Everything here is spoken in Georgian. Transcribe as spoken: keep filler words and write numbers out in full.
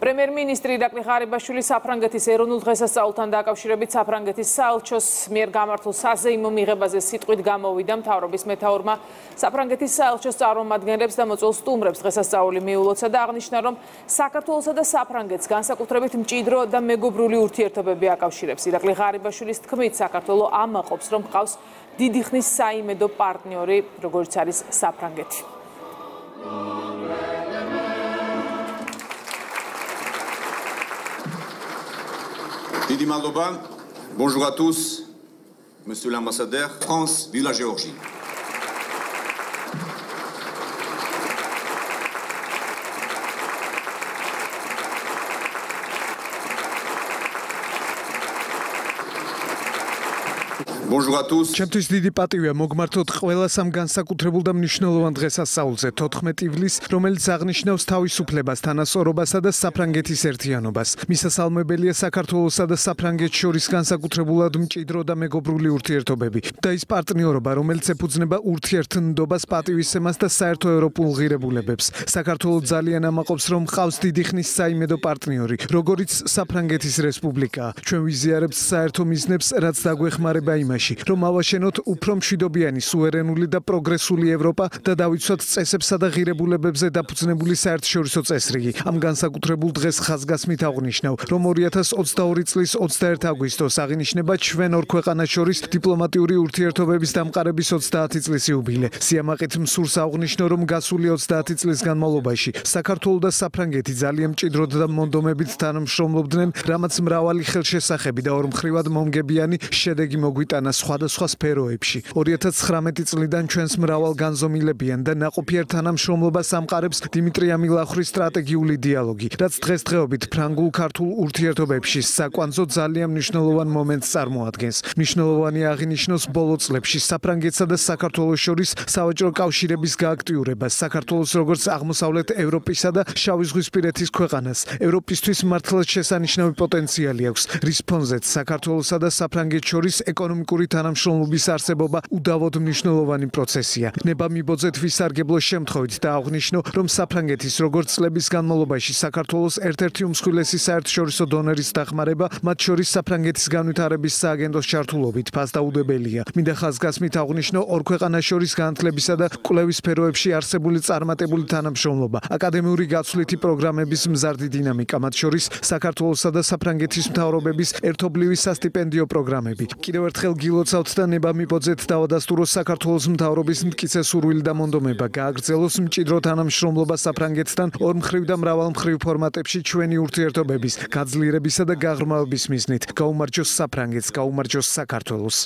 პრემიერ-მინისტრი ირაკლი ღარიბაშვილი საფრანგეთის ეროვნულ დღესასწაულთან დაკავშირებით საფრანგეთის საელჩოს მიერ გამართულ საზეიმო მიღებაზე სიტყვით გამოვიდა. მთავრობის მეთაურმა საფრანგეთის საელჩოს წარმომადგენლებს და მოწვეულ სტუმრებს დღესასწაული მიულოცა და აღნიშნა, რომ საქართველოსა და საფრანგეთს განსაკუთრებით მჭიდრო და მეგობრული ურთიერთობები აკავშირებს. ირაკლი ღარიბაშვილის თქმით, საქართველო ამაყობს, რომ ჰყავს დიდი ხნის საიმედო პარტნიორი, როგორც არის საფრანგეთი. Didi Maldoba, bonjour à tous, monsieur l'ambassadeur, France, vive la Géorgie. Bonjour à tous. ჩემთვის დიდი პატივია მოგმართოთ ყველა სამ განსაკუთრებულ და მნიშვნელოვან დღესასწაულზე თოთხმეტი ივლისს, რომელიც აღნიშნავს თავისუფლებას, თანასწორობასა და საფრანგეთის ერთიანობას. მისასალმებელია საქართველოსა და საფრანგეთს შორის განსაკუთრებულად მჭიდრო და მეგობრული ურთიერთობები და ის პარტნიორობა, რომელიც ეფუძნება ურთიერთნდობას, პატივისცემას და საერთო ევროპულ ღირებულებებს. საქართველო ძალიან ამაყობს, რომ ჰყავს დიდი ხნის საიმედო პარტნიორი, როგორიც საფრანგეთის რესპუბლიკა. ჩვენ ვიზიარებთ საერთო მიზნებს, რაც დაგვეხმარება იმაში, რომ ავაშენოთ უფრო მშვიდობიანი, სუვერენული და პროგრესული ევროპა და დავიცვათ წესებსა და ღირებულებებზე დაფუძნებული საერთაშორისო წესრიგი. ამ განსაკუთრებულ დღეს ხაზგასმით აღვნიშნავ, რომ ორი ათას ოცდაორი წლის ოცდაერთი აგვისტოს აღინიშნება ჩვენ ორ ქვეყანას შორის დიპლომატიური ურთიერთობების დამყარების ოცდაათი წლის იუბილე. სიამაყით მსურს აღვნიშნო, რომ გასული ოცდაათი წლის განმავლობაში საქართველო და საფრანგეთი ძალიან მჭიდროდ და მონდომებით თანამშრომლობდნენ, რამაც მრავალი ხელშესახები და ორმხრივად მომგებიანი შედეგი მოგვიტანა სხვადასხვა სფეროებში. ორი ათას ცხრამეტი წლიდან ჩვენს მრავალ განზომილებიან და ნაყოფიერ თანამშრომლობას ამყარებს დიმიტრი ამილახვრის სტრატეგიული დიალოგი, რაც დღესდღეობით ფრანგულ-ქართულ ურთიერთობებში საკვანძო ძალიან მნიშვნელოვან მომენტს წარმოადგენს. მნიშვნელოვანი აღინიშნოს ბოლო წლებში საფრანგეთსა და საქართველოს შორის სავაჭრო კავშირების გააქტიურებას, საქართველოს როგორც აღმოსავლეთ ევროპისა და შავიზღვისპირეთის ქვეყანას. ევროპისთვის მართლაც შესანიშნავი პოტენციალი აქვს, რის ფონზეც საქართველოსა და საფრანგეთს შორის ეკონომიკური თანამშრომლობის არსებობა უდავოდ მნიშვნელოვანი პროცესია. ნება მიბოძეთ ვისარგებლოს შემთხვევით და აღვნიშნო, რომ საფრანგეთის როგორც წლების განმავლობაში საქართველოს ერთ-ერთი უმსხვილესი საერთაშორისო დონორის დახმარება, მათ შორის საფრანგეთის განვითარების სააგენტოს ჩართულობით ფასდაუდებელია. მინდა ხაზგასმით აღვნიშნო ორ ქვეყანას შორის განათლებისა და კვლევის სფეროებში არსებული წარმატებული თანამშრომლობა, აკადემიური გაცვლითი პროგრამების მზარდი დინამიკა, მათ შორის საქართველოსა და საფრანგეთის მთავრობების ერთობლივი სასტიპენდიო პროგრამები. კიდევ ერთხელ გილოცავთ და ნება მიბოძეთ დავადასტუროს საქართველოს მთავრობის მტკიცე სურვილი და მონდომება გააგრძელოს მჭიდრო თანამშრომლობა საფრანგეთთან ორმხრივ და მრავალმხრივ ფორმატებში ჩვენი ურთიერთობების გაძლიერებისა და გაღრმავების მიზნით. გაუმარჯოს საფრანგეთს, გაუმარჯოს საქართველოს.